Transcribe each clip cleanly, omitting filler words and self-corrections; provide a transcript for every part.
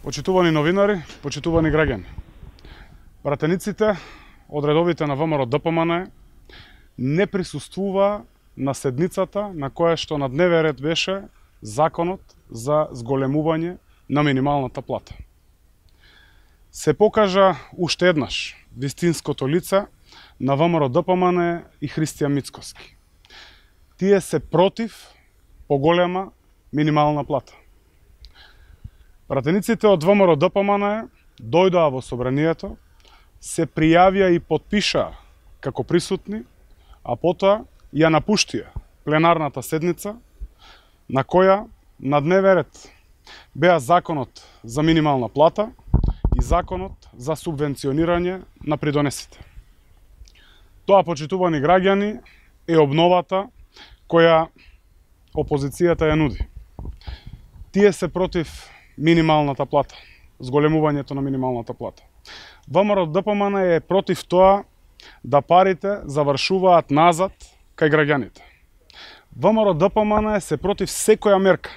Почитувани новинари, почитувани граѓани. Пратениците од редовите на ВМРО-ДПМН не присуствува на седницата на која што на дневен ред беше законот за зголемување на минималната плата. Се покажа уште еднаш вистинското лице на ВМРО-ДПМН и Христијан Мицкоски. Тие се против поголема минимална плата. Пратениците од ВМРО-ДПМН дојдоа во собранието, се пријавија и потпишаа како присутни, а потоа ја напуштија пленарната седница на која на дневен ред беа законот за минимална плата и законот за субвенционирање на придонесите. Тоа, почитувани граѓани, е обновата која опозицијата ја нуди. Тие се против минималната плата, зголемувањето на минималната плата. ВМРО-ДПМН е против тоа да парите завршуваат назад кај граѓаните. ВМРО-ДПМН се против секоја мерка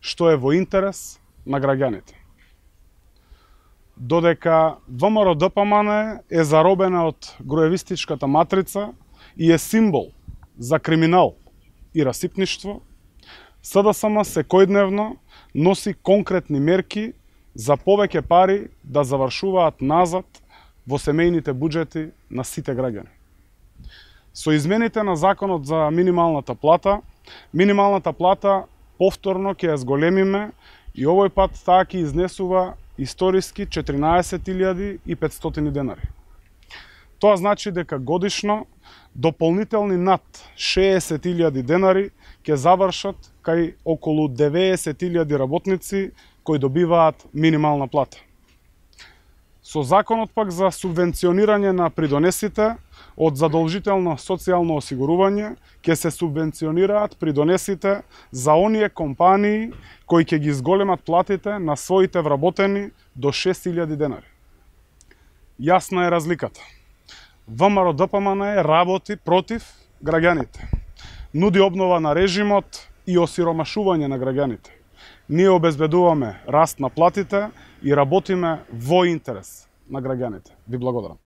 што е во интерес на граѓаните. Додека ВМРО-ДПМН е заробена од груевистичката матрица и е символ за криминал и расипништво, СДСМ секојдневно носи конкретни мерки за повеќе пари да завршуваат назад во семејните буџети на сите граѓани. Со измените на законот за минималната плата повторно ќе ја зголемиме и овој пат таа ќе изнесува историски 14.500 денари. Тоа значи дека годишно дополнителни над 60.000 денари ќе завршат кај околу 90.000 работници кои добиваат минимална плата. Со законот пак за субвенционирање на придонесите од задолжително социјално осигурување ќе се субвенционираат придонесите за оние компании кои ќе ги зголемат платите на своите вработени до 6.000 денари. Јасна е разликата. ВМРО-ДПМН работи против граѓаните. Нуди обнова на режимот и осиромашување на граѓаните. Ние обезбедуваме раст на платите и работиме во интерес на граѓаните. Ви благодарам.